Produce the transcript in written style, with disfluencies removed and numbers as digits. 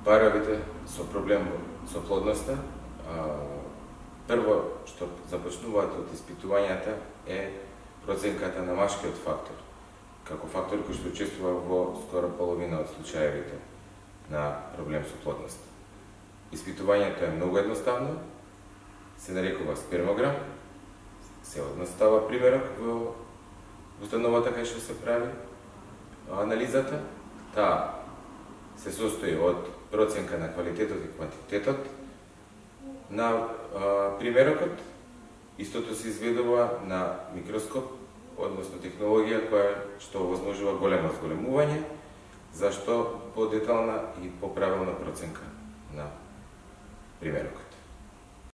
паровите со проблем со плодноста, прво што започнуваат од испитувањата е проценката на машкиот фактор, како фактор кој што учествува во скоро половина од случаевите на проблем со плодноста. Испитувањето е многу едноставно, се нарекува спермограм, се одностава примерок во установата кај што се прави анализата. Таа се состои од проценка на квалитетот и квантитетот на примерокот. Истото се изведува на микроскоп, односно технологија која што овозможува големо зголемување, зашто по-детална и поправилна проценка на примерокот.